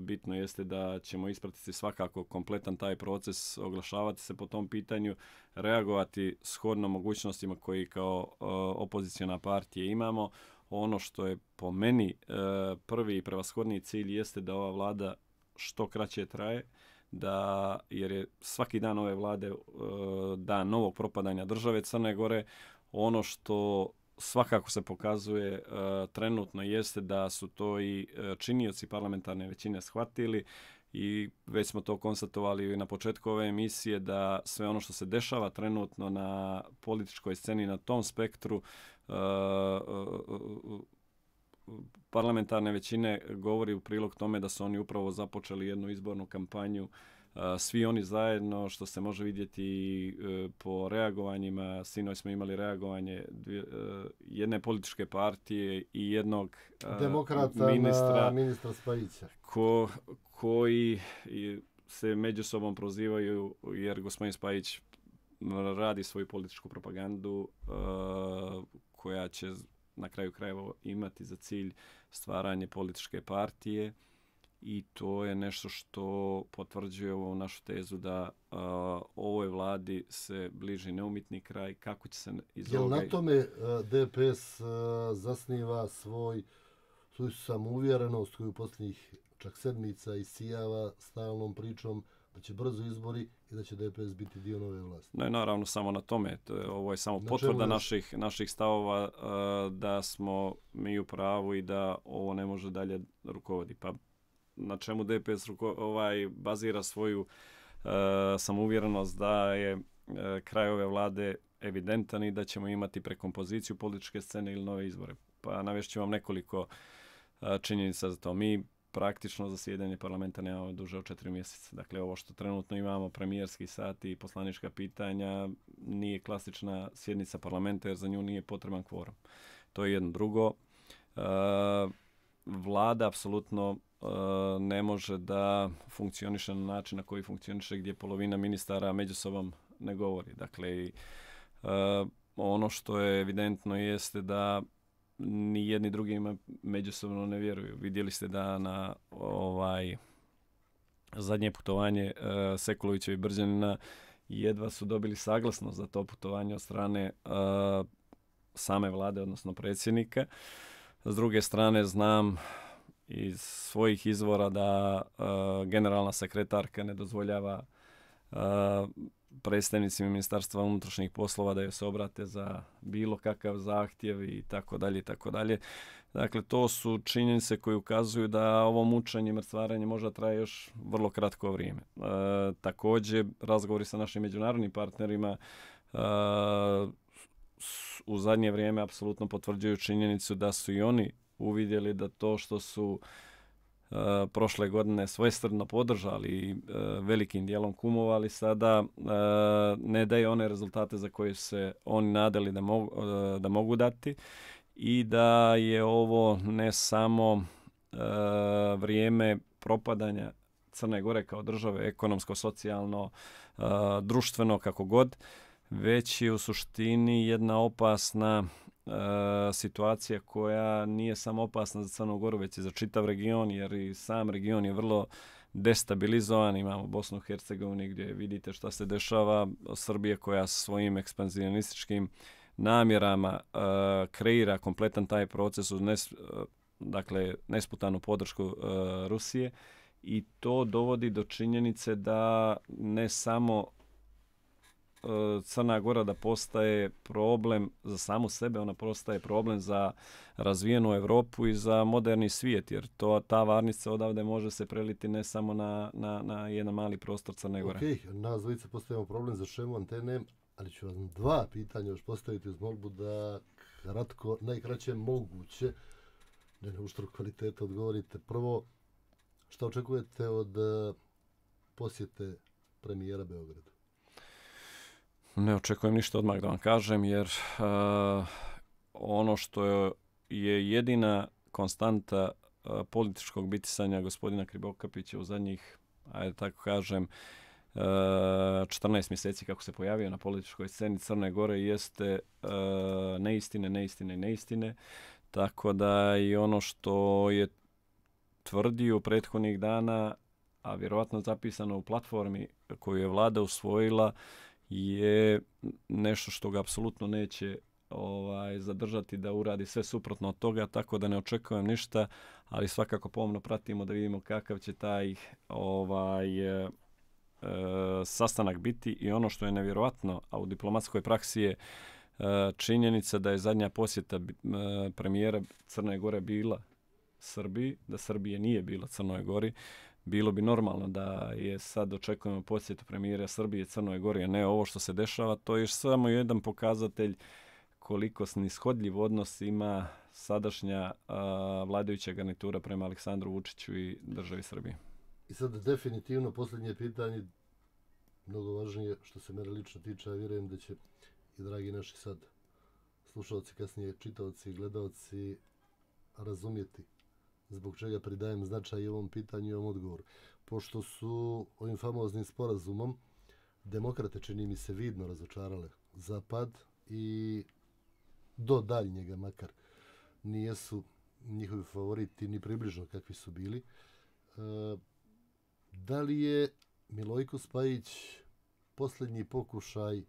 Speaker 3: bitno jeste da ćemo ispratiti svakako kompletan taj proces, oglašavati se po tom pitanju, reagovati shodno mogućnostima koji kao uh, opoziciona partija imamo. Ono što je po meni uh, prvi i prevashodni cilj jeste da ova vlada što kraće traje, da, jer je svaki dan ove vlade uh, dan novog propadanja države Crne Gore. Ono što svakako se pokazuje uh, trenutno jeste da su to i uh, činioci parlamentarne većine shvatili i već smo to konstatovali na početku ove emisije da sve ono što se dešava trenutno na političkoj sceni na tom spektru uh, uh, parlamentarne većine govori u prilog tome da su oni upravo započeli jednu izbornu kampanju. Svi oni zajedno, što se može vidjeti po reagovanjima, sinoć smo imali reagovanje dvije, jedne političke partije i jednog
Speaker 2: demokrata
Speaker 3: ministra,
Speaker 2: na ministra Spajića.
Speaker 3: Ko, koji se među sobom prozivaju jer gospodin Spajić radi svoju političku propagandu koja će na kraju krajeva imati za cilj stvaranje političke partije i to je nešto što potvrđuje ovu našu tezu da uh, ovoj vladi se bliži neumitni kraj. Kako će se iz
Speaker 2: Jel
Speaker 3: ovoga...
Speaker 2: na tome uh, D P S uh, zasniva svoj, svoju samouvjerenost koju posljednjih čak sedmica isijava stalnom pričom da će brzo izbori i da će D P S biti dio nove vlasti?
Speaker 3: Ne, naravno, samo na tome. Ovo je samo potvrda naših, naših stavova uh, da smo mi u pravu i da ovo ne može dalje rukovodi. Pa na čemu D P S ruko, ovaj, bazira svoju uh, samouvjerenost da je uh, kraj ove vlade evidentan i da ćemo imati prekompoziciju političke scene ili nove izbore. Pa navešću vam nekoliko uh, činjenica za to. Mi praktično zasjedanje parlamenta nemamo duže od četiri mjeseca. Dakle, ovo što trenutno imamo, premijerski sat i poslanička pitanja, nije klasična sjednica parlamenta jer za nju nije potreban kvorum. To je jedno. Drugo, uh, vlada apsolutno uh, ne može da funkcioniše na način na koji funkcioniše gdje polovina ministara među sobom ne govori. Dakle, uh, ono što je evidentno jeste da ni jedni drugima međusobno ne vjeruju. Vidjeli ste da na ovaj zadnje putovanje uh, Sekulovića i Brđanina jedva su dobili saglasnost za to putovanje od strane uh, same vlade, odnosno predsjednika. S druge strane, znam iz svojih izvora da uh, generalna sekretarka ne dozvoljava uh, predstavnicima Ministarstva unutrašnjih poslova da joj se obrate za bilo kakav zahtjev i tako dalje i tako dalje. Dakle, to su činjenice koje ukazuju da ovo mučenje i mrcvarenje možda traje još vrlo kratko vrijeme. E, također, razgovori sa našim međunarodnim partnerima e, u zadnje vrijeme apsolutno potvrđuju činjenicu da su i oni uvidjeli da to što su Uh, prošle godine svojstrno podržali i uh, velikim dijelom kumovali, sada uh, ne daje one rezultate za koje se oni nadali da mogu, uh, da mogu dati i da je ovo ne samo uh, vrijeme propadanja Crne Gore kao države, ekonomsko, socijalno, uh, društveno, kako god, već je u suštini jedna opasna Uh, situacija koja nije samo opasna za Crnu Goru, već i za čitav region, jer i sam region je vrlo destabilizovan. Imamo Bosnu i Hercegovini gdje vidite šta se dešava. Srbija koja svojim ekspanzionističkim namjerama uh, kreira kompletan taj proces uz nes, uh, dakle, nesputanu podršku uh, Rusije i to dovodi do činjenice da ne samo Crna Gora da postaje problem za samu sebe, ona postaje problem za razvijenu Europu i za moderni svijet, jer to, ta varnica odavde može se preliti ne samo na, na, na jedan mali prostor Crne Gore.
Speaker 2: Ok, nas dvojice postavimo problem za šemu antene, ali ću vam dva pitanja još postaviti uz molbu da kratko, najkraće moguće, ne na uštrb kvaliteta, odgovorite. Prvo, šta očekujete od uh, posjete premijera Beogradu?
Speaker 3: Ne očekujem ništa odmah da vam kažem, jer uh, ono što je, je jedina konstanta uh, političkog bitisanja gospodina Krivokapića u zadnjih, ajde tako kažem, uh, četrnaest mjeseci kako se pojavio na političkoj sceni Crne Gore jeste uh, neistine, neistine i neistine. Tako da i ono što je tvrdio prethodnih dana, a vjerovatno zapisano u platformi koju je vlada usvojila, je nešto što ga apsolutno neće ovaj, zadržati da uradi sve suprotno od toga, tako da ne očekujem ništa, ali svakako pomno pratimo da vidimo kakav će taj ovaj, e, e, sastanak biti i ono što je nevjerovatno, a u diplomatskoj praksi je e, činjenica da je zadnja posjeta e, premijera Crne Gore bila Srbiji, da Srbije nije bila Crnoj Gori. Bilo bi normalno da je sad očekujemo posjetu premijera Srbije Crnoj Gori, a ne ovo što se dešava. To je samo jedan pokazatelj koliko snishodljiv odnos ima sadašnja a, vladajuća garnitura prema Aleksandru Vučiću i državi Srbije.
Speaker 2: I sad definitivno posljednje pitanje, mnogo važnije što se mene lično tiče, ja vjerujem da će i dragi naši sad slušalci, kasnije čitaoci i gledalci razumjeti zbog čega pridajem značaj ovom pitanju i ovom odgovoru. Pošto su ovim famoznim sporazumom demokrate, čini mi se, vidno razočarale Zapad i do daljnjega makar nijesu njihovi favoriti ni približno kakvi su bili. E, da li je Milojko Spajić posljednji pokušaj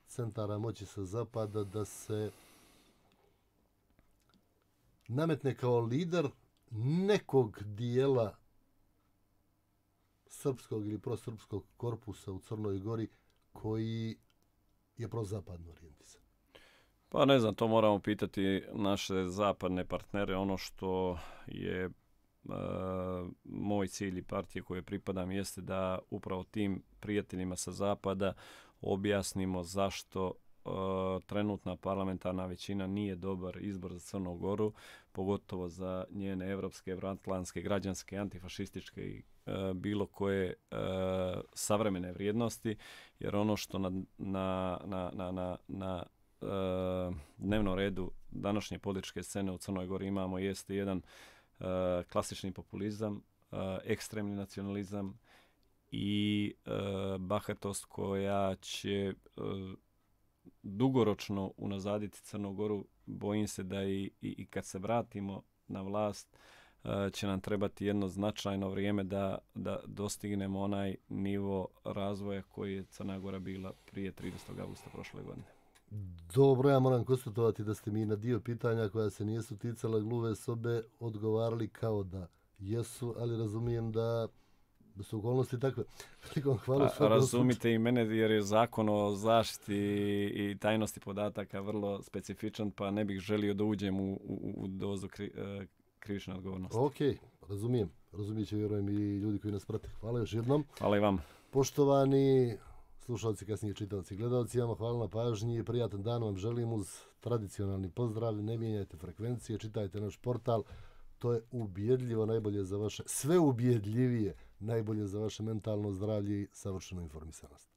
Speaker 2: centara moći sa Zapada da se nametne kao lider nekog dijela srpskog ili prosrpskog korpusa u Crnoj Gori koji je prozapadno orijentisan?
Speaker 3: Pa ne znam, to moramo pitati naše zapadne partnere. Ono što je e, moj cilj i partije koje pripadam jeste da upravo tim prijateljima sa Zapada objasnimo zašto Uh, trenutna parlamentarna većina nije dobar izbor za Crnu Goru, pogotovo za njene evropske, evroatlantske, građanske, antifašističke i uh, bilo koje uh, savremene vrijednosti, jer ono što na, na, na, na, na, na uh, dnevnom redu današnje političke scene u Crnoj Gori imamo jeste jedan uh, klasični populizam, uh, ekstremni nacionalizam i uh, bahatost koja će uh, dugoročno unazaditi Crnu Goru. Bojim se da i, i, i kad se vratimo na vlast uh, će nam trebati jedno značajno vrijeme da, da dostignemo onaj nivo razvoja koji je Crna Gora bila prije tridesetog avgusta prošle godine.
Speaker 2: Dobro, ja moram konstatovati da ste mi na dio pitanja koja se nijesu ticala gluve sobe odgovarali kao da jesu, ali razumijem da da su okolnosti takve. Hvala.
Speaker 3: A, razumite i mene jer je zakon o zaštiti i tajnosti podataka vrlo specifičan, pa ne bih želio da uđem u, u, u dozu kri, uh, krivične odgovornosti.
Speaker 2: Ok, razumijem. Razumijet će, vjerujem, i ljudi koji nas prate. Hvala još jednom.
Speaker 3: Hvala i vam.
Speaker 2: Poštovani slušalci, kasnije čitavci i gledalci, vam hvala na pažnji i prijatan dan vam želim uz tradicionalni pozdrav. Ne mijenjajte frekvencije, čitajte naš portal. To je ubjedljivo najbolje za vaše, sve ubjedljivije najbolje za vaše mentalno zdravlje i savršenu informisanost.